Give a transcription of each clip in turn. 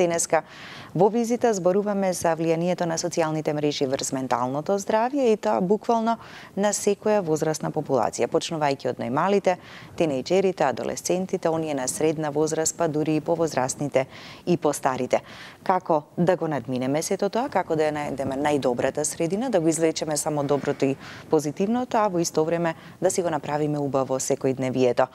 Денеска во визита зборуваме за влијанието на социјалните мрежи врз менталното здравје и тоа буквално на секоја возрастна популација, почнувајќи од најмалите, тинејџерите, адолесцентите, оние на средна возраст, па дури и повозрастните и постарите. Како да го надминеме сето тоа, како да ја најдеме најдобрата средина, да го извлечеме само доброто и позитивното, а во исто време да си го направиме убаво секојдневието.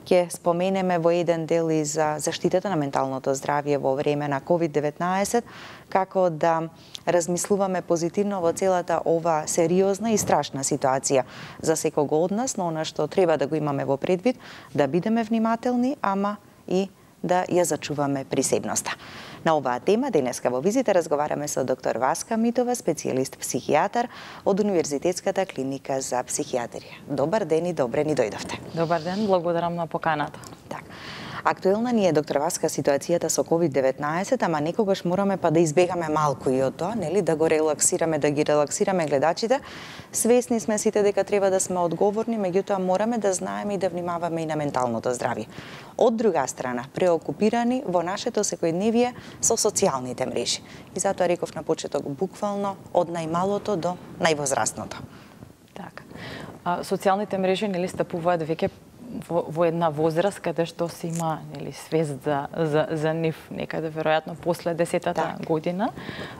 Ќе споменеме во еден дел и за заштитата на менталното здравје во време на COVID-19, како да размислуваме позитивно во целата ова сериозна и страшна ситуација за секого од нас, но она што треба да го имаме во предвид, да бидеме внимателни, ама и да ја зачуваме присебноста. На оваа тема денеска во визита разговараме со доктор Васка Митова, специјалист психијатар од Универзитетската клиника за психијатрија. Добар ден и добре ни дојдовте. Добар ден, благодарам на поканата. Так. Актуелна ни е, доктор Васка, ситуацијата со COVID-19, ама некогаш мораме па да избегаме малку и од тоа, нели, да го релаксираме, да ги релаксираме гледачите. Свесни сме сите дека треба да сме одговорни, меѓутоа мораме да знаеме и да внимаваме и на менталното здравје. Од друга страна, преокупирани во нашето секојдневие со социјалните мрежи. И затоа реков на почеток буквално од најмалото до највозрастното. Така. Социјалните мрежи нели стапуваат веќе во една возраст каде што се има нели свест за нив некаде веројатно после 10-та година,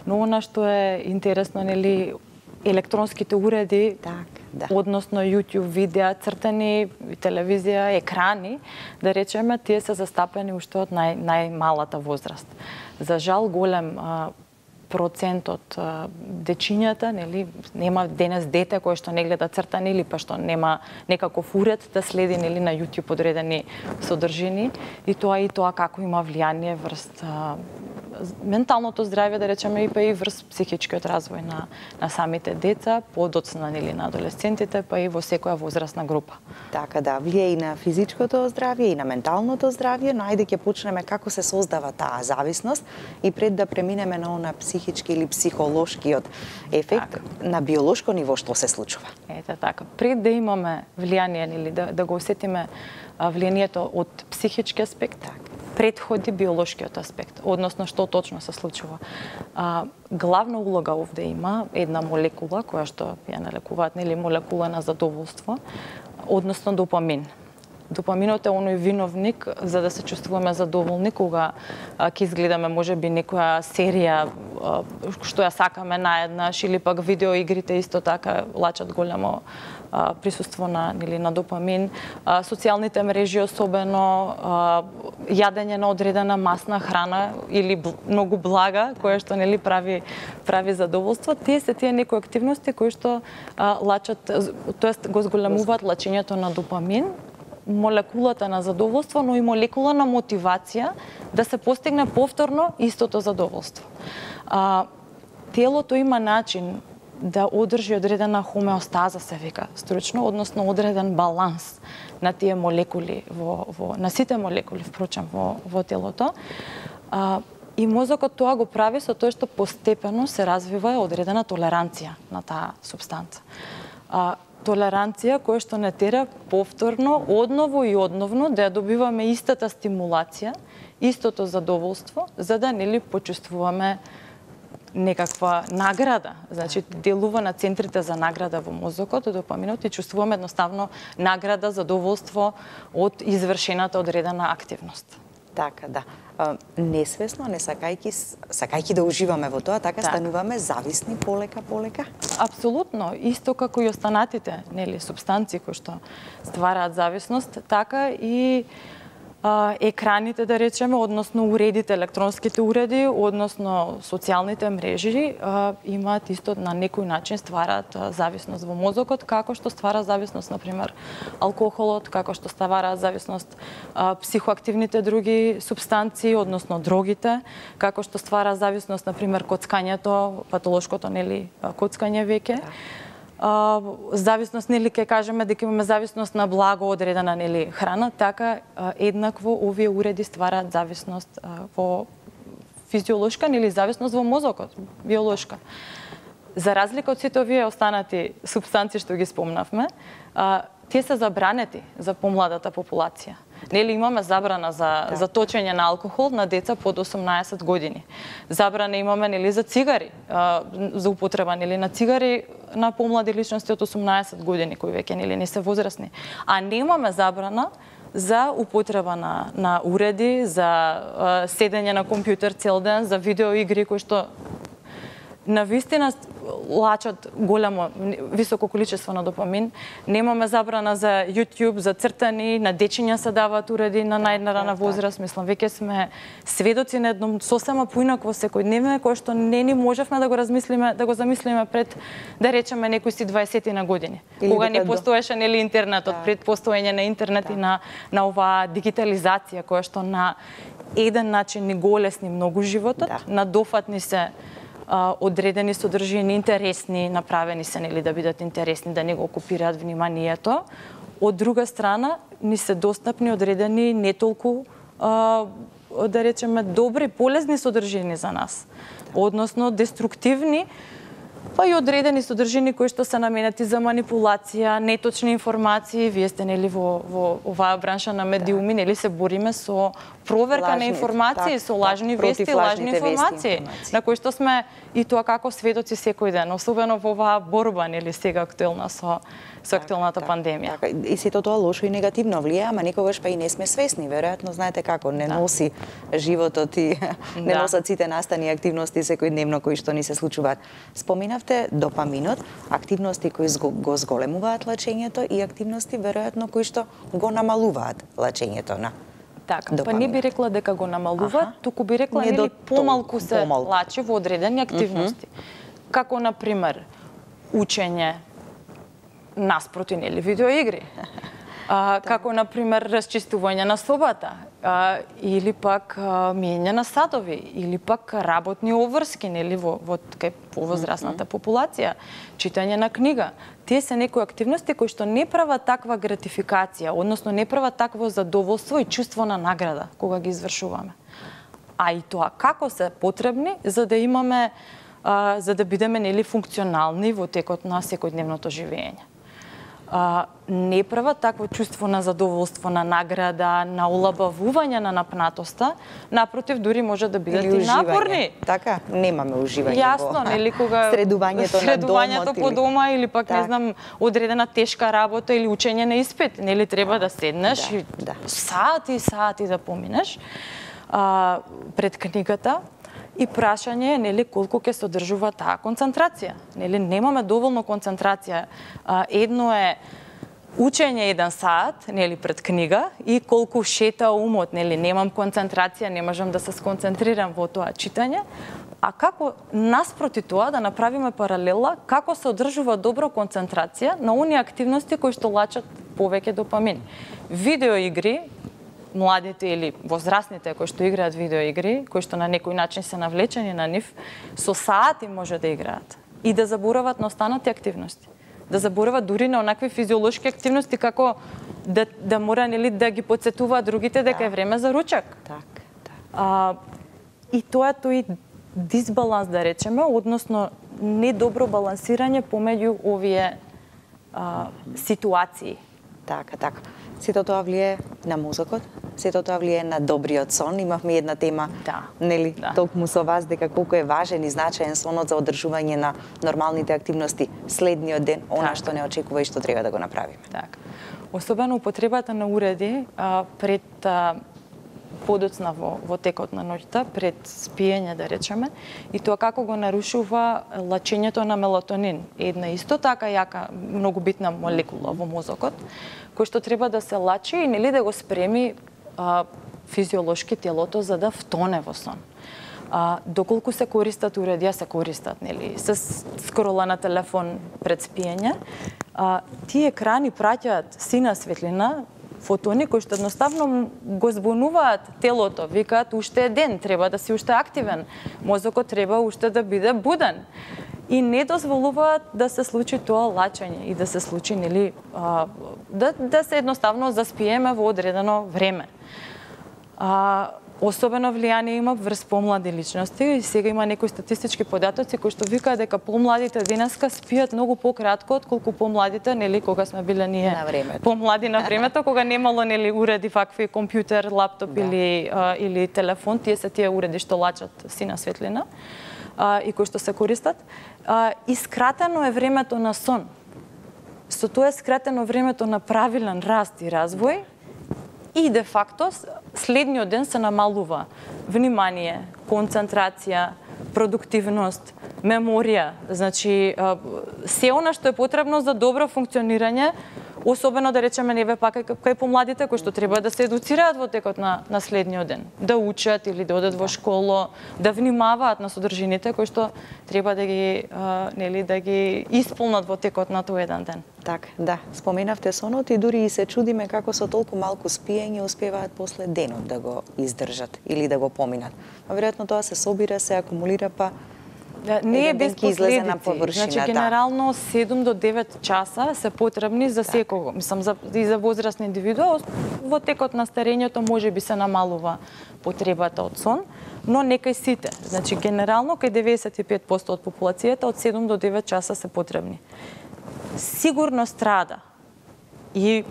но она што е интересно нели електронските уреди, односно YouTube видеа, цртани, телевизија, екрани, да речеме, тие се застапени уште од најмалата возраст. За жал голем процент од дечињата, нели, нема денес дете кое што не гледа цртани или па што нема некаков уред да следи нели на YouTube одредени содржини и тоа како има влијание врз менталното здравје, да речеме, и па и врз психичкиот развој на самите деца, подоцна нели на адолесцентите, па и во секоја возрастна група. Така да, влијае и на физичкото здравје и на менталното здравје, но ајде ќе почнеме како се создава таа зависност и пред да преминеме на она психички или психолошкиот ефект, на биолошко ниво што се случува. Ете така. Пред да имаме влијание нели да го осетиме влијанието од психички аспект, предходи биолошкиот аспект, односно што точно се случува. Главна улога овде има една молекула која што ја налекуваат, нели, молекула на задоволство, односно допамин. Допаминот е оној виновник за да се чувствуваме задоволни кога ќе изгледаме можеби некоја серија што ја сакаме наеднаш или пак видеоигрите исто така лачат големо присуство на допамин, социјалните мрежи особено, јадење на одредена масна храна или многу блага која што нели прави задоволство. Тие се некои активности кои што лачат, тоест го зголемуваат лачењето на допамин, молекулата на задоволство, но и молекула на мотивација да се постигне повторно истото задоволство. Телото има начин да одржи одредена хомеостаза, се вика стручно, односно одреден баланс на тие молекули на сите молекули впрочем во телото. И мозокот тоа го прави со тоа што постепено се развива одредена толеранција на таа супстанца. Толеранција која што не тера повторно, одново и одновно да ја добиваме истата стимулација, истото задоволство, за да нели почувствуваме некаква награда. Значи, делува на центрите за награда во мозокот, допаминот, и чувствуваме едноставно награда, задоволство од извршената одредена активност. Така, да. Несвесно, не сакајќи да уживаме во тоа, така стануваме зависни полека. Апсолутно, исто како и останатите, нели, супстанции кои што ствараат зависност, така и екраните, да речеме, односно уредите, електронските уреди, односно социјалните мрежи, имаат исто на некој начин ствараат зависност во мозокот, како што ствара зависност, например, алкохолот, како што ствараат зависност психоактивните други супстанции, односно дрогите, како што ствара зависност, например, коцкањето, патолошкото, нели, коцкање веќе. Зависност, нели, ке кажеме дека имаме зависност на благо одредена, нели, храна, така еднакво овие уреди ствараат зависност во физиолошка, нели, зависност во мозокот, биолошка. За разлика од сите овие останати супстанции што ги спомнавме, Те се забранети за помладата популација. Нели имаме забрана за точење на алкохол на деца под 18 години. Забрана имаме нели за цигари, за употреба нели на цигари на помлади личности од 18 години кои веќе нели не се возрастни. А немаме забрана за употреба на уреди, за седење на компјутер цел ден, за видеоигри кои што навистина лачат големо, високо количество на допамин. Немаме забрана за YouTube, за цртани, на дечиња се даваат уреди на најрана возраст. Мислам, веќе сме сведоци на едно сосема поинакво секојдневно, кое што не ни можевме да го размислиме, да го замислиме пред, да речеме, некои си 20 на години. Кога не постоеше нели интернетот, пред постоење на интернет и на оваа дигитализација која што на еден начин ни го олесни многу животот, на дофатни се одредени содржини, интересни, направени се нели да бидат интересни, да не го окупираат вниманието. Од друга страна, ни се достапни одредени не толку, да речеме, добри, полезни содржини за нас. Односно, деструктивни, па и одредени содржини кои што се наменети за манипулација, неточни информации. Вие сте нели во оваа бранша на медиуми, нели се бориме со проверка на информации, со лажни вести, лажни информации, на кои што сме и тоа како сведоци секој ден, особено во оваа борба нели сега актуелна со актуелната пандемија. И сето тоа лошо и негативно влијае, ама никогаш па и не сме свесни, веројатно знаете како не носи животот и не носат сите настани и активности секојдневно кои што ни се случуваат. Споминавте допаминот, активности кои го зголемуваат лачењето и активности веројатно кои што го намалуваат лачењето на така, па не би рекла дека го намалуваат, туку би рекла нели помалку се лачи во одредени активности. Како на пример учење наспроти нели видеоигри. Како на пример расчистување на собата, или пак миење на садови, или пак работни обврски нели во возрастната популација, читање на книга. Тие се некои активности кои што не прават таква гратификација, односно не прават такво задоволство и чувство на награда кога ги извршуваме. А и тоа како се потребни за да имаме, за да бидеме нели функционални во текот на секојдневното живење. Не прават такво чувство на задоволство, на награда, на олабавување на напнатоста, напротив, дури може да бидат и напорни. Така, немаме уживање Јасно, нели кога средувањето по дома или пак не знам, одредена тешка работа или учење на испит, нели треба да седнеш и сати и сати да поминеш пред книгата. И прашање е нели колку ќе содржува таа концентрација. Нели немаме доволно концентрација. Едно е учење 1 сат, нели пред книга и колку шета умот, нели немам концентрација, не можам да се сконцентрирам во тоа читање. А како наспроти тоа да направиме паралела како се одржува добро концентрација на оние активности кои што лачат повеќе допамин. Видеоигри, младите или возрастните кои што играат видеоигри, кои што на некој начин се навлечени на нив, со сати може да играат и да заборават на останати активности. Да заборават дури на онакви физиолошки активности како да мора нели да ги потсетуваат другите дека е време за ручак. И тоа е тој дисбаланс да речеме, односно недобро балансирање помеѓу овие ситуации. Така. Сето тоа влие на мозокот, сето тоа влие на добриот сон. Имавме една тема, нели, токму со вас, дека колку е важен и значаен сонот за одржување на нормалните активности следниот ден, она што не очекува и што треба да го направиме. Така. Особено употребата на уреди пред подоцна во текот на ноќта, пред спиење да речеме, и тоа како го нарушува лачењето на мелатонин. Една исто така јака, многу битна молекула во мозокот, кој што треба да се лачи и нели да го спреми физиолошки телото за да втоне во сон. Доколку се користат уредија, се користат нели се скрола на телефон пред спиење, тие екрани праќаат сина светлина, фотони кои што едноставно го збунуваат телото, викаат уште е ден, треба да си уште активен, мозокот треба уште да биде буден. И не дозволуваат да се случи тоа лачење и да се случи нели да се едноставно заспиеме во одредено време. особено влијание има врз помлади личности и сега има некои статистички податоци кои што викаат дека помладите денеска спијат многу пократко отколку помладите, нели, кога сме биле ние помлади на времето, кога немало, нели, уреди вакви компјутер, лаптоп или телефон, тие уреди што лачат сина светлина и кои што се користат. И скратено е времето на сон. Со тоа е скратено времето на правилен раст и развој. И де факто следниот ден се намалува внимание, концентрација, продуктивност, меморија, значи се она што е потребно за добро функционирање, особено да речеме неве пак кај помладите кои што треба да се едуцираат во текот на следниот ден, да учат или да одат во школа, да внимаваат на содржините кои што треба да ги нели да ги исполнат во текот на тој еден ден. Така, да, споменавте сонот и дури и се чудиме како со толку малку спиење успеваат после денот да го издржат или да го поминат. А веројатно тоа се собира, се акумулира, па не е без последици. Значи, генерално 7 до 9 часа се потребни за секого. Мислам, и за возрастни индивидуа. Во текот на старењето може би се намалува потребата од сон, но не кај сите. Значи, генерално кај 95% од популацијата од 7 до 9 часа се потребни. Сигурно страда и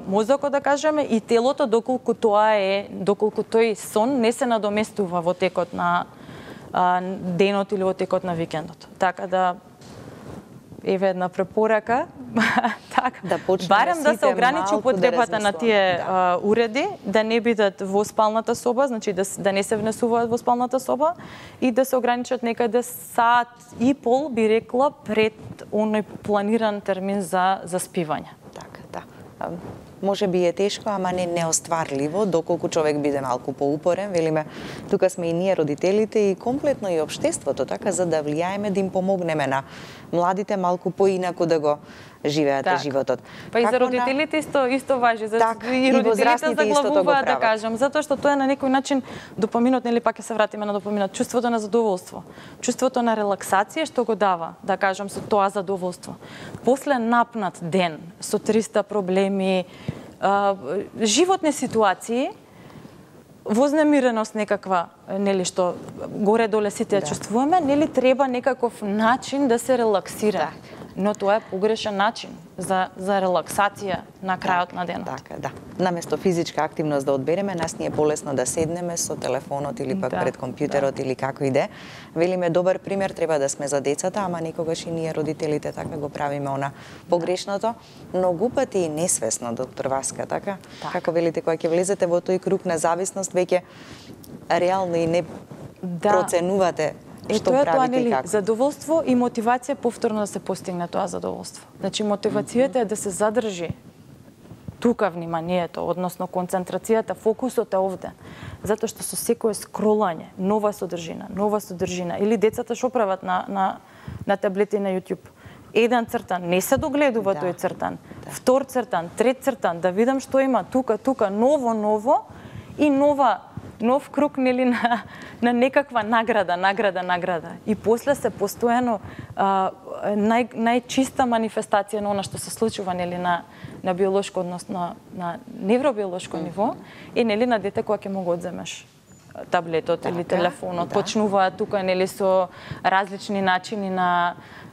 мозокот, да кажеме, и телото, доколку тој сон не се надоместува во текот на денот или во текот на викендот. Така да еве една препорака, така да барем да се ограничи употребата на тие уреди, да не бидат во спалната соба, значи да не се внесуваат во спалната соба и да се ограничат некаде сат и пол, би рекла, пред оној планиран термин за спивање. Така, да. Може би е тешко, ама не неостварливо, доколку човек биде малку поупорен, велиме, тука сме и ние родителите и комплетно и општеството, така, за да влијаеме да им помогнеме на младите малку поинаку да го живеат животот. Па и за родителите исто важи, и родителите заглавуваат, да кажам, затоа што тоа е на некој начин допаминот, нели пак ќе се вратиме на допаминот, чувството на задоволство, чувството на релаксација што го дава, да кажам, со тоа задоволство. После напнат ден со 300 проблеми, животни ситуации, вознемиреност некаква, нели, што горе-доле сите ја чувствуваме, нели треба некаков начин да се релаксира. Но тоа е погрешен начин за релаксација на крајот на денот. Така, да. Наместо физичка активност да одбереме, нас ни е полесно да седнеме со телефонот или пак пред компјутерот или како иде. Велиме, добар пример треба да сме за децата, ама никогаш и ние родителите така го правиме она погрешното, многу пати и несвесно, доктор Васка, така? Како велите, кога ќе влезете во тој круг на зависност, веќе реално и не проценувате што правите и како. Задоволство и мотивација повторно да се постигне тоа задоволство. Значи, мотивацијата е да се задржи тука вниманието, односно концентрацијата, фокусот е овде. Затоа што со секое скролање, нова содржина, или децата што прават на таблети на YouTube. Еден цртан, не се догледува тој цртан, втор цртан, трет цртан, да видам што има тука, ново и нов круг, нели, на некаква награда. И после се постојано најчиста манифестација на она што се случува, нели, на биолошко, односно на невробиолошко ниво, и, нели, на дете кога ќе му го одземеш таблетот или телефонот, почнуваат тука, нели, со различни начини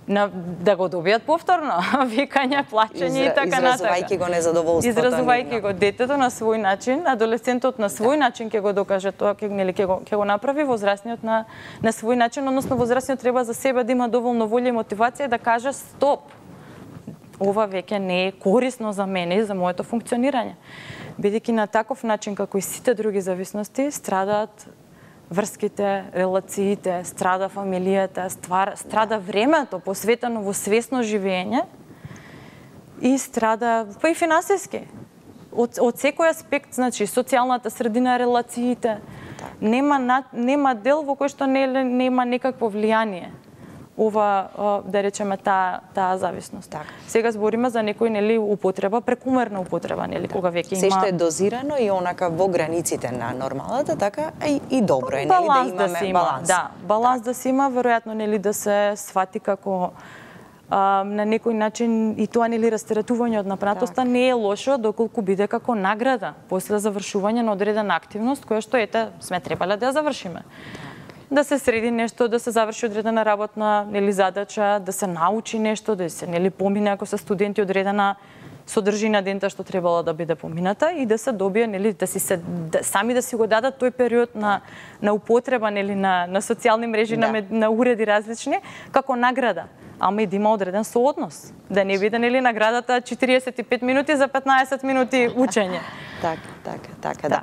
да го добијат повторно, викање, плачење и така натака. Изразувајќи го незадоволството. Изразувајќи го детето на свој начин, адолесцентот на свој начин ќе го докаже тоа, ќе го направи, возрастниот на свој начин, односно возрастниот треба за себе да има доволно волја и мотивација да каже стоп. Ова веќе не е корисно за мене и за моето функционирање. Бидејќи на таков начин како и сите други зависности страдаат врските, релациите, страда фамилијата, страда времето посветено во свесно живење и страда па и финансиски. Од секој аспект, значи социјалната средина, релациите, нема дел во кој што нема некакво влијание ова, да речеме, таа зависност. Сега збориме за некој, нели, употреба, прекумерна употреба, нели, кога веќе има... Се што е дозирано и онака во границите на нормалата, така и добро е, нели, да имаме баланс. Да, баланс да се има, веројатно, нели, да се свати како на некој начин и тоа нели растератување од напратоста не е лошо доколку биде како награда после завршување на одредена активност која што сме требале да ја завршиме. Да се среди нешто, да се заврши одредена работна задача, да се научи нешто, да се помине ако се студенти одредена содржина дента што требало да биде помината и да се добие сами да си го дадат тој период на употреба на социјални мрежи, на уреди различни како награда. Ама и да има одреден сооднос. Да не биде наградата 45 минути за 15 минути учење. Така, да.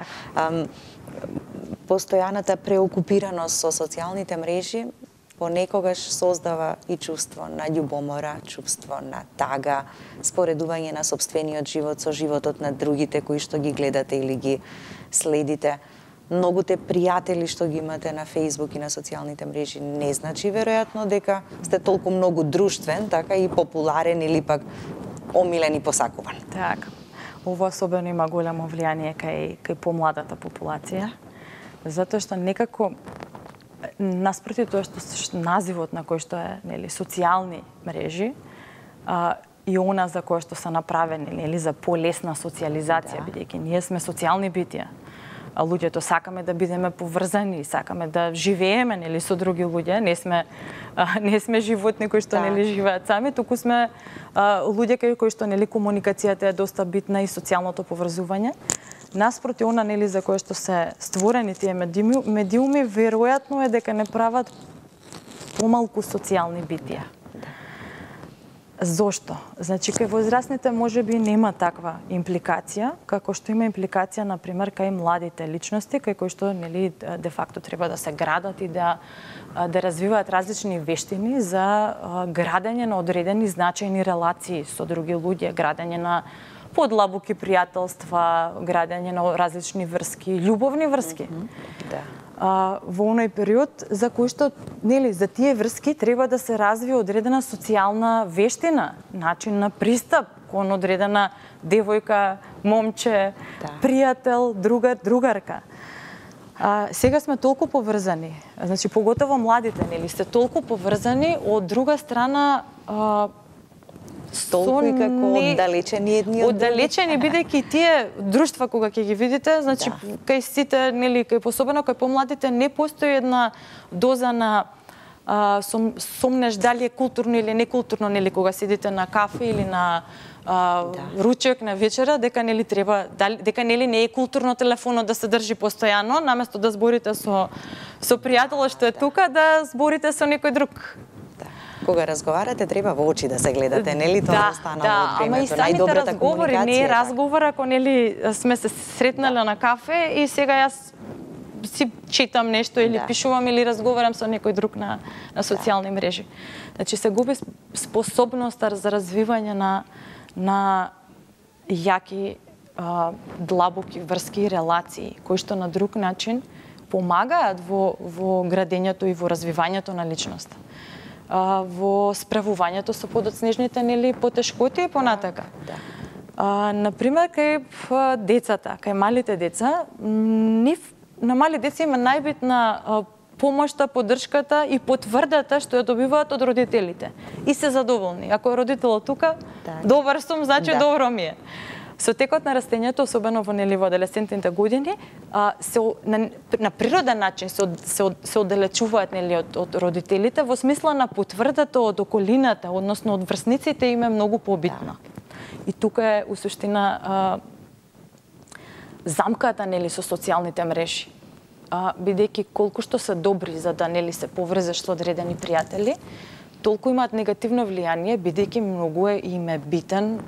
Постојаната преокупираност со социјалните мрежи понекогаш создава и чувство на љубомора, чувство на тага, споредување на сопствениот живот со животот на другите кои што ги гледате или ги следите. Многуте пријатели што ги имате на Facebook и на социјалните мрежи не значи веројатно дека сте толку многу друштвен, така и популарен или пак омилен и посакуван. Така. Ова особено има големо влијание кај помладата популација, затоа што некако наспроти тоа што називот на кој што е социјални мрежи и она за која што се направени за полесна социјализација, бидејќи ние сме социјални битија. Луѓето сакаме да бидеме поврзани, сакаме да живееме со други луѓе, не сме животни кои што живеат сами, туку сме луѓе кои што комуникацијата е доста битна и социјалното поврзување. Наспроти она за кое што се створени тие медиуми, веројатно е дека не прават помалку социјални битија. Зошто? Значи, кај возрастните можеби нема таква импликација, како што има импликација, например, кај младите личности, кај кои што, де факто треба да се градат и да развиваат различни вештини за градење на одредени значајни релации со други луѓе, градење на подлабоки пријателства, градење на различни врски, љубовни врски. Во оној период за кој што за тие врски треба да се развие одредена социјална вештина, начин на пристап кон одредена девојка, момче, пријател, другар, другарка. Сега сме толку поврзани, значи поготово младите, сте толку поврзани, од друга страна толку и како оддалечени едни од други. Оддалечени, бидејќи тие друштва кога ќе ги видите, значи кај сите, кај особено кај помладите не постои една доза на сомнеш дали е културно или некултурно, кога седите на кафе или на ручек на вечера, дека треба, дека не е културно телефонот да се држи постојано, наместо да зборите со пријателот што е тука, да зборите со некој друг. Кога разговарате, треба во очи да се гледате, нели тоа останало од времето. Ама и самите разговори, не е разговор ако сме се сретнале на кафе и сега јас си читам нешто или пишувам или разговарам со некој друг на социјални мрежи. Значи се губи способноста за развивање на јаки, длабоки врски и релации, кои што на друг начин помагаат во градењето и во развивањето на личноста. Во справувањето со подоцнежните потешкоти и понатака. Например, кај децата, кај малите деца, на мали деца има најбитна помошта, поддршката и потврдата што ја добиваат од родителите. И се задоволни. Ако е родителот тука, добар сум, значи добро ми е. Со текот на растењето, особено во адолесцентните години, на природен начин се оддалечуваат од родителите во смисла на потврдата од околината, односно од врсниците им е многу побитна. И тука е у суштина замката со социјалните мрежи. Бидејќи колку што се добри за да се поврзеш со одредени пријатели, толку имаат негативно влијание, бидејќи многу им е битен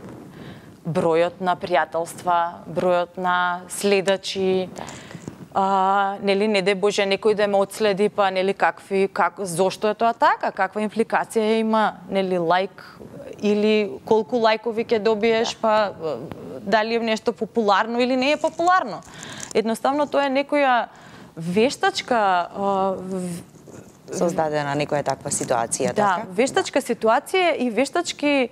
бројот на пријателства, бројот на следачи, не дај Боже некој да ме одследи, па зошто е тоа така, каква импликација има, лајк или колку лајкови ќе добиеш, па дали е нешто популарно или не е популарно. Едноставно тоа е некоја вештачка создадена некоја таква ситуација, така? Да, вештачка ситуација и вештачки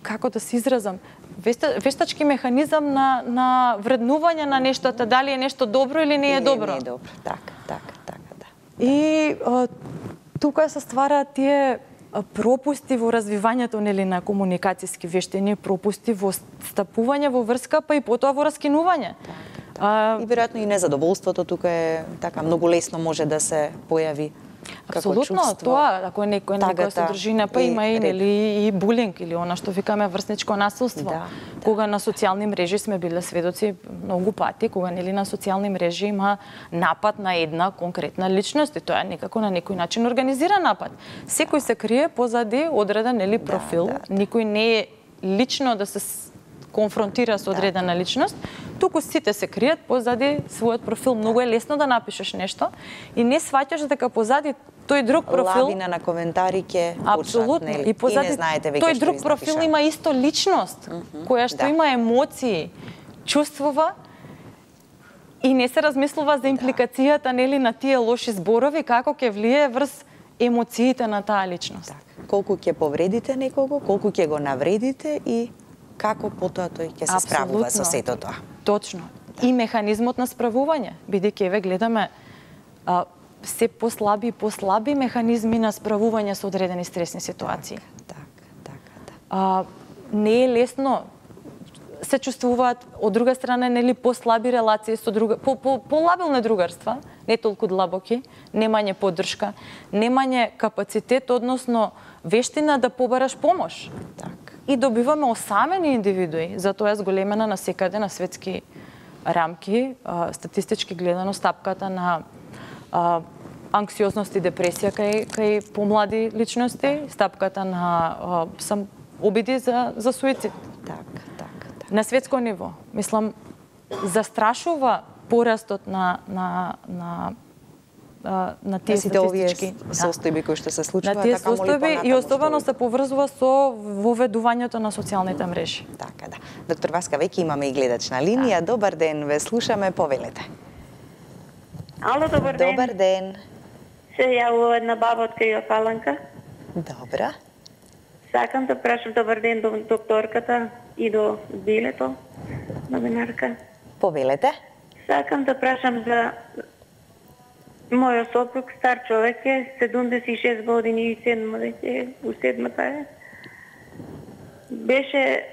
како да се изразам, вештачки механизам на вреднување на нештото, дали е нешто добро или не е добро. Не е добро, така, да. И тука се ствараат тие пропусти во развивањето нели на комуникацијски вештини, пропусти во стапување во врска, па и потоа во раскинување. И веројатно и незадоволството тука е така многу лесно може да се појави. Апсолутно, тоа, ако е некоја содржина, па има и нели и булинг или она што викаме врсничко насилство. Кога на социјални мрежи сме биле сведоци многу пати, кога нели на социјални мрежи има напад на една конкретна личност и тоа е некако на некој начин организиран напад. Секој се крие позади одреден нели профил, никој не е лично да се конфронтира со одредена личност, туку сите се кријат позади својот профил. Многу е лесно да напишеш нешто и не сваќаш дека позади тој друг профил лавина на коментари ќе апсолутно почнат, и позади и не знаете веќе тој што друг профил има исто личност која што има емоции, чувствува и не се размислува за импликацијата нели на тие лоши зборови како ќе влие врз емоциите на таа личност. Колку ќе повредите некого, колку ќе го навредите и како потоа тој ќе се справува со сето тоа. Точно. И механизмот на справување, бидејќи еве гледаме се послаби механизми на справување со одредени стресни ситуации. Не е лесно, се чувствуваат од друга страна нели послаби релации со друга, полабилни другарства, не толку длабоки, немање поддршка, немање капацитет, односно вештина да побараш помош. И добиваме осамени индивидуи, затоа е зголемена насекаде на светски рамки, статистички гледано стапката на анксиозност и депресија кај помлади личности, стапката на обиди за суицид. На светско ниво, мислам, застрашува порастот на тие статистички состојби кои што се случуваат, на тие состојби и особено се поврзува со воведувањето на социјалните мрежи. Така да. Доктор Васка, веќе имаме и гледач на линија. Добар ден, ве слушаме, повелете. Ало, добар ден. Добар ден. Се јавува една баба од кај Паланка. Добра. Сакам да прашам добар ден до докторката и до билето, новинарка. Повелете. Сакам да прашам за мојот сопруг, стар човек е, 76 години и 7 веќе, у 7-та е. Беше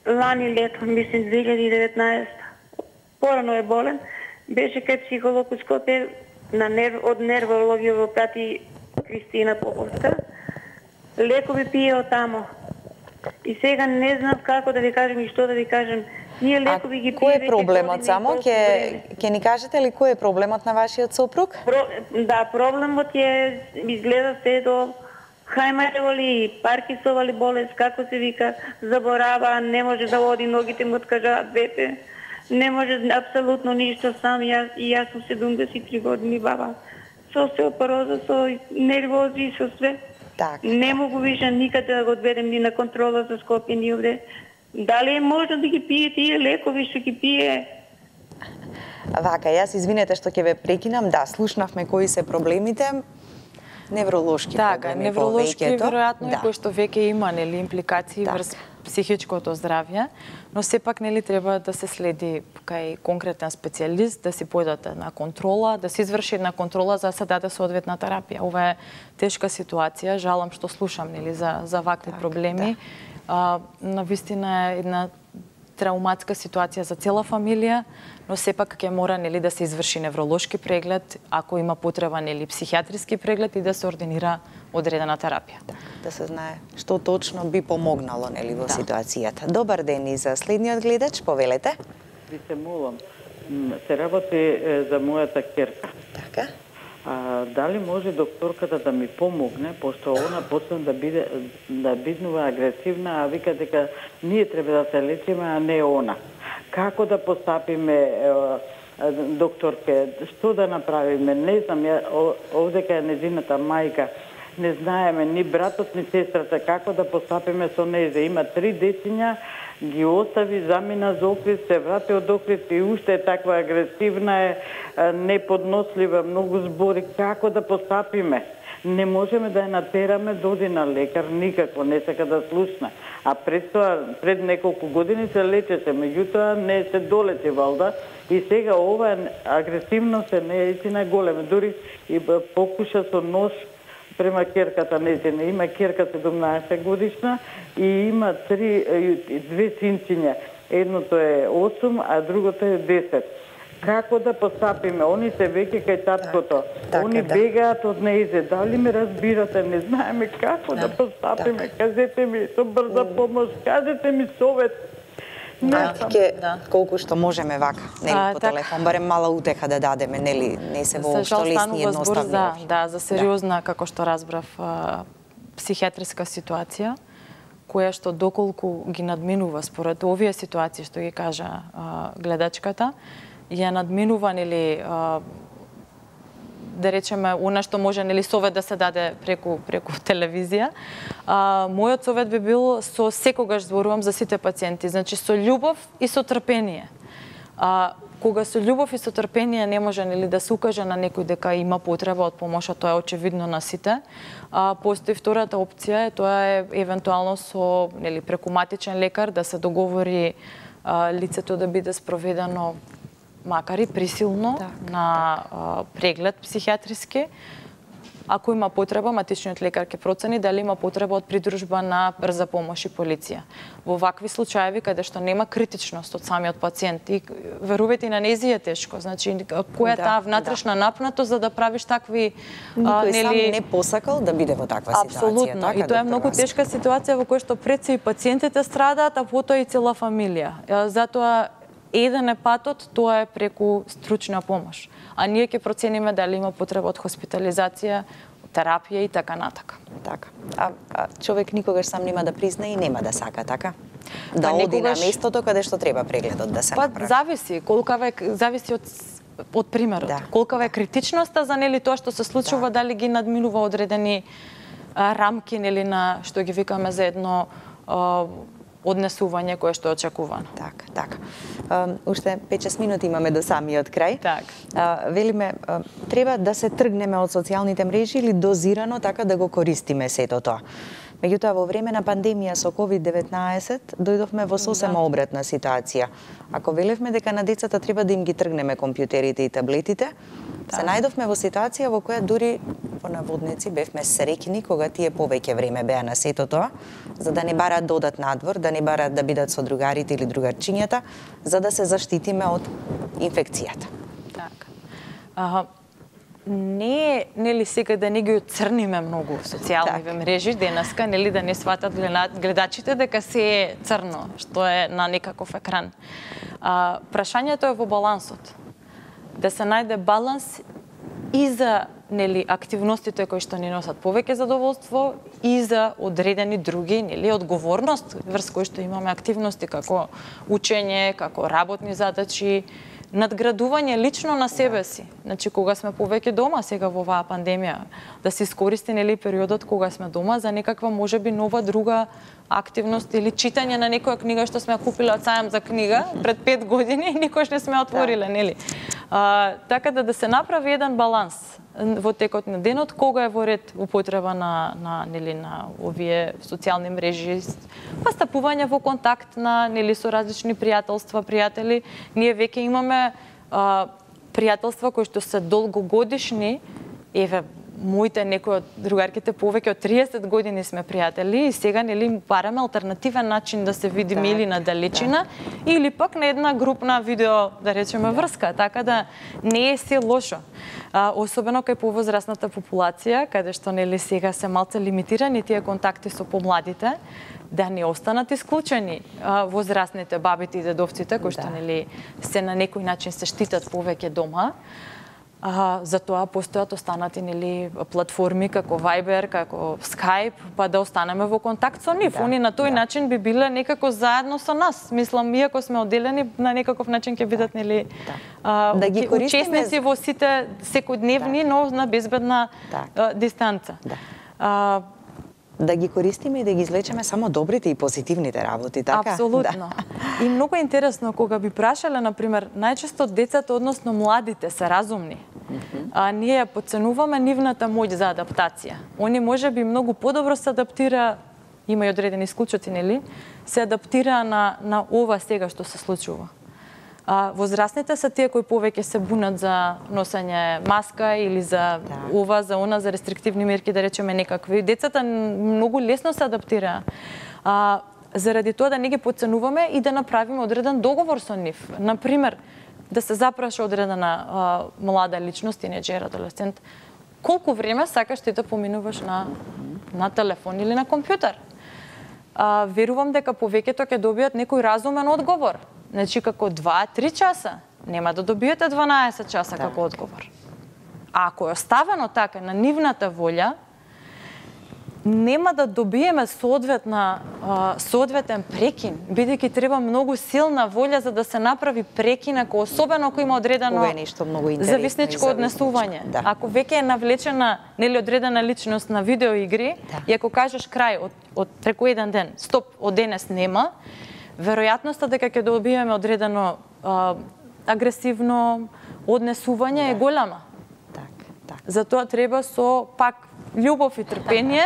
лани лето, мислим 2019. Порано е болен. Беше кај психолог у Скопје, од нервологија во прати Кристина Поповска. Лекови пие од тамо. И сега не знам како да ви кажем и што да ви кажем. Ние лекови ги пие. Кој е проблемот само? Ќе ни кажете ли кој е проблемот на вашиот сопруг? Да, проблемот е изгледа се до Хајмарево Паркинсова ли болест, како се вика, заборава, не може да води, ногите му откажаат двете. Не може апсолутно ништо сам. Јас сум 73 години баба. Со остеопороза, со нервози, со све. Не могу више никаде да го одведем ни на контрола за Скопје, ни овде. Дали е можно да ги пие тие лекови што ги пие? Вака, јас извинете што ќе ве прекинам. Да, слушнавме кои се проблемите. Невролошки проблеми, невролошки веројатно кои што веќе има нели импликации врз психичкото здравје, но сепак нели треба да се следи кај конкретен специјалист, да си појдете на контрола, да се изврши една контрола за да се даде соодветна терапија. Ова е тешка ситуација, жалам што слушам нели за вакви проблеми. Навистина е една трауматска ситуација за цела фамилија, но сепак ќе мора нели да се изврши невролошки преглед, ако има потреба нели психијатриски преглед и да се ординира одредена терапија. Да се знае што точно би помогнало нели во ситуацијата. Добар ден и за следниот гледач, повелете. Ви се молам, се работи за мојата ќерка. Така. Дали може докторката да ми помогне, пошто она почна да биднува агресивна, а вика дека ние треба да се лечиме, а не она. Како да постапиме, докторке, што да направиме? Не знам, овдека е незината мајка, не знаеме ни братот, ни сестрата, како да постапиме со нејзе. Има 3 дечиња, ги остави, замина за Охрид, се врати од Охрид и уште е таква агресивна, е неподнослива, многу збори. Како да постапиме? Не можеме да ја натераме да оди на лекар, никако, не сака да слушна. А пред неколку години се лечеше, меѓутоа не се долече валда и сега ова агресивност е неистина голема. Дури и покуша со нож спрема керката нејзина. Има керка 17 годишна и има две синциња. Едното е 8, а другото е 10. Како да постапиме? Они се веќе кај таткото. Они бегаат од нејзе. Дали ме разбирате? Не знаеме како да постапиме. Кажете ми со брза помош, кажете ми совет. Колку што можеме вака, нели, по телефон, барем мала утеха да дадеме, нели, не се воопшто лесни едноставни. Да, за сериозна, како што разбрав, психијатриска ситуација, која што доколку ги надминува според овие ситуации што ги кажа гледачката, ја надминува, нели, да речеме, она што може, нели, совет да се даде преку телевизија. Мојот совет би бил, со секогаш зборувам за сите пациенти, значи со љубов и со трпение. Кога со љубов и со трпение не може, нели, да се укаже на некој дека има потреба од помош, тоа е очевидно на сите. Постои втората опција, тоа е евентуално со, нели, преку матичен лекар да се договори лицето да биде спроведено макар и присилно на преглед психијатриски. Ако има потреба, матичниот лекар ќе процени дали има потреба од придружба на брза помош и полиција. Во вакви случаеви каде што нема критичност од самиот пациент и верувате, на нејзи е тешко. Значи, која е таа внатрешна напнатост за да правиш такви, никој сам не посакал да биде во таква ситуација. Апсолутно. И тоа е многу тешка ситуација во која што пред се и пациентите страдаат, а потоа и цела фамилија. Затоа еден е патот, тоа е преку стручна помош. А ние ќе процениме дали има потреба од хоспитализација, терапија и така натака. Така. А човек никогаш сам нема да призна и нема да сака, така? Да оди на местото каде што треба прегледот да се направи. Зависи, зависи од примерот. Колкава е критичноста за, нели, тоа што се случува, дали ги надминува одредени рамки, нели, на што ги викаме за едно однесување кое што е очекувано. Така. Уште 5-6 минути имаме до самиот крај. Велиме, треба да се тргнеме од социјалните мрежи или дозирано така да го користиме сето тоа. Меѓутоа, во време на пандемија со COVID-19 дојдовме во сосема обратна ситуација. Ако велевме дека на децата треба да им ги тргнеме компјутерите и таблетите, се најдовме во ситуација во која дури во наводници бевме среќни кога тие повеќе време беа на сето тоа, за да не бараат да одат надвор, да не бараат да бидат со другарите или другарчињата, за да се заштитиме од инфекцијата. Така. Не е, нели, сега да не ги оцрниме многу социјалните мрежи денеска, нели, да не сватат гледачите дека се е црно, што е на некаков екран. Прашањето е во балансот. Да се најде баланс и за, нели, активностите кои што ни носат повеќе задоволство и за одредени други, нели, одговорност врз кои што имаме активности како учење, како работни задачи, надградување лично на себе си. Значи, кога сме повеќе дома сега во оваа пандемија, да се искористи, нели, периодот кога сме дома за некаква можеби нова друга активност или читање на некоја книга што сме купиле од сајам за книга пред 5 години и никош не сме отвориле, нели. Така да се направи еден баланс во текот на денот, кога е во ред употреба нели, на овие социјални мрежи, стапување во контакт нели, со различни пријателства, пријатели. Ние веќе имаме пријателства кои што се долгогодишни, еве, моите некои од другарките повеќе од 30 години сме пријатели и сега, нели, бараме алтернативен начин да се видиме или на далечина или пак на една групна видео, да речеме, врска, така да не е се лошо. Особено кај повозрасната популација, каде што, нели, сега се малце лимитирани тие контакти со помладите, да не останат исклучени возрастните бабите и дедовците кои што, нели, се на некој начин се штитат повеќе дома. Затоа постојат останати, нели, платформи како Viber, како Skype, па да останеме во контакт со нив. Они на тој начин би биле некако заедно со нас. Мислам, иако сме одделени, на некаков начин ќе бидат, нели, учесници во сите секојдневни, но на безбедна дистанца. Да ги користиме и да ги извлечеме само добрите и позитивните работи, така? Апсолутно. И многу интересно, кога би прашале, например, најчесто децата, односно младите, се разумни. Ние подценуваме нивната моќ за адаптација. Они може би многу подобро се адаптира, има и одредени исклучоци, нели, се адаптира на ова сега што се случува. Возрастните се тие кои повеќе се бунат за носење маска или за ова, за она, за рестриктивни мерки, да речеме некакви. Децата многу лесно се адаптираа. Заради тоа да не ги потценуваме и да направиме одреден договор со нив. Например, да се запраша одредена млада личност, тинеџер, адолесцент, колку време сакаш ти да поминуваш на телефон или на компјутер. Верувам дека повеќето ќе добијат некој разумен одговор. Значи, како 2-3 часа, нема да добиете 12 часа како одговор. А ако е оставено така на нивната волја, нема да добиеме соодветен прекин, бидејќи треба многу силна волја за да се направи прекин, особено ако има одредено зависничко однесување. Ако веќе е навлечена одредена личност на видеоигри и ако кажеш крај од преку еден ден, стоп, од денес нема, веројатноста дека ќе добиеме одредено агресивно однесување е голема. Затоа треба со пак љубов и трпение,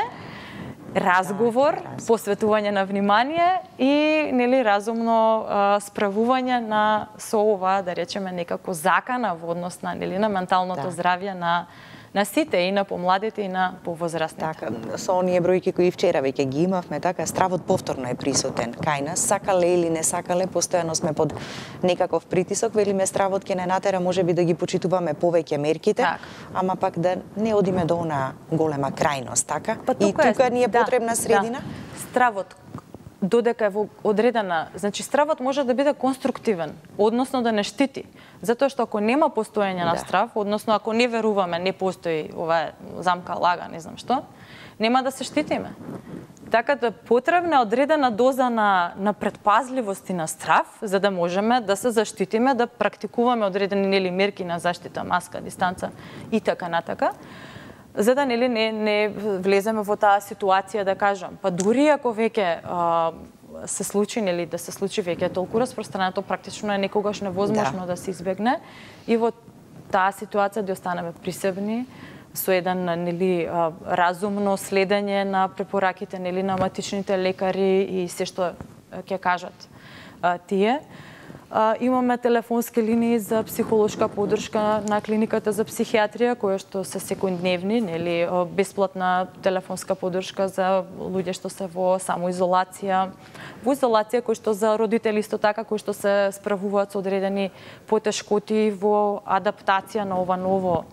разговор, посветување на внимание и разумно справување со ова, да речеме, некако закана во однос на менталното здравје на сите, и на помладите, и на повозрастните. Така, со оние бројки кои вчера веќе ги имавме, така, стравот повторно е присутен кај нас, сакале или не сакале, постојано сме под некаков притисок, велиме стравот ќе не натера можеби да ги почитуваме повеќе мерките, ама пак да не одиме до она голема крајност, така? И тука ни е потребна средина? Стравот додека е во одредена, значи стравот може да биде конструктивен, односно да не штити. Затоа што ако нема постоење на страв, односно ако не веруваме, не постои ова замка, лага, не знам што, нема да се штитиме. Така да потребна одредена доза на предпазливост и на страв, за да можеме да се заштитиме, да практикуваме одредени мерки на заштита, маска, дистанца и така натака, за да не влеземе во таа ситуација, да кажам. Па дури ако веќе се случи, да се случи веќе толку распространето, практично е некогаш невозможно да се избегне, и во таа ситуација да останеме присебни, со еден разумно следење на препораките на матичните лекари и се што ќе кажат тие. Имаме телефонски линии за психолошка поддршка на клиниката за психијатрија, кои што се секојдневни, бесплатна телефонска поддршка за луѓе што се во самоизолација, кои што за родители исто така, кои што се справуваат со одредени потешкоти во адаптација на ова ново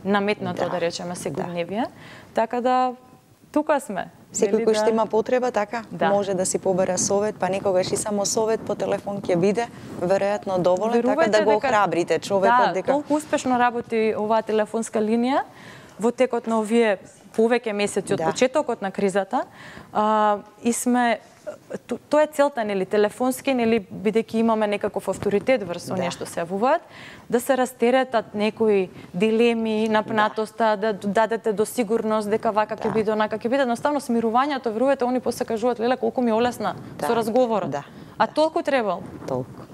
наметнато, да речеме, секојдневие. Така да тука сме. Секој кој што има потреба, така, може да си побера совет, па некогаш и само совет по телефон ќе биде веројатно доволен, така да го охрабрите човекот дека толку успешно работи оваа телефонска линија во текот на овие повеќе месеци од почетокот на кризата, и сме тоа е целта, телефонски, бидејќи имаме некаков авторитет врз оние што се јавуваат, да се растеретат некои дилеми, напнатоста, да дадете до сигурност дека вака ќе биде, онака ќе биде. Едноставно смирувањето, верувате, они после кажуваат, леле, колку ми олесна со разговорот. А толку требал.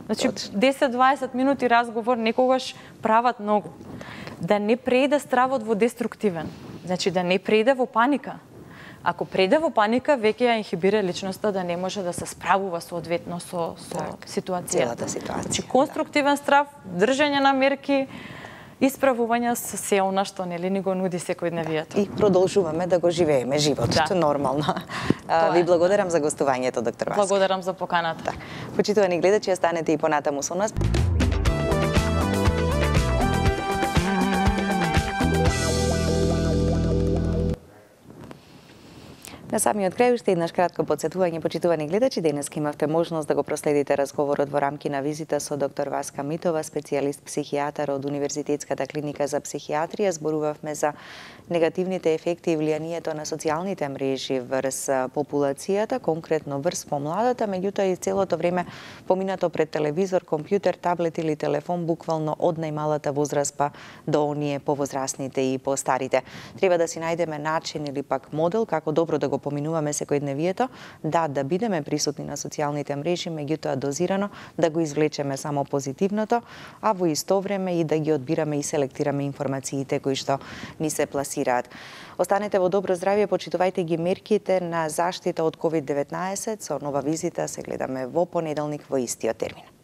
Значи, 10-20 минути разговор некогаш прават многу. Да не преиде стравот во деструктивен. Значи, да не преиде во паника. Ако преде во паника, веќе ја инхибира личноста да не може да се справува соодветно со ситуацијата. Значи, конструктивен страв, држање на мерки, исправување со се она што ни го нуди секојдневието. И продолжуваме да го живееме животот нормално. Ви благодарам за гостувањето, доктор Васка. Благодарам за поканата. Почитувани гледачи, останете и понатаму со нас. На самиот крај уште еднаш кратко потсетување, почитувани гледачи, денес имавте можност да го проследите разговорот во рамки на визита со доктор Васка Митова, специјалист психијатар од Универзитетската клиника за психијатрија. Зборувавме за негативните ефекти и влијанието на социјалните мрежи врз популацијата, конкретно врз помладата, меѓутоа и целото време поминато пред телевизор, компјутер, таблет или телефон, буквално од најмалата возраст па до оние повозрастните и постарите. Треба да си најдеме начин или пак модел како добро да го поминуваме секојдневието, да бидеме присутни на социјалните мрежи, меѓутоа дозирано, да го извлечеме само позитивното, а во исто време и да ги одбираме и селектираме информациите кои што ни се пласираат. Останете во добро здравје, почитувајте ги мерките на заштита од COVID-19. Со нова визита се гледаме во понеделник во истиот термин.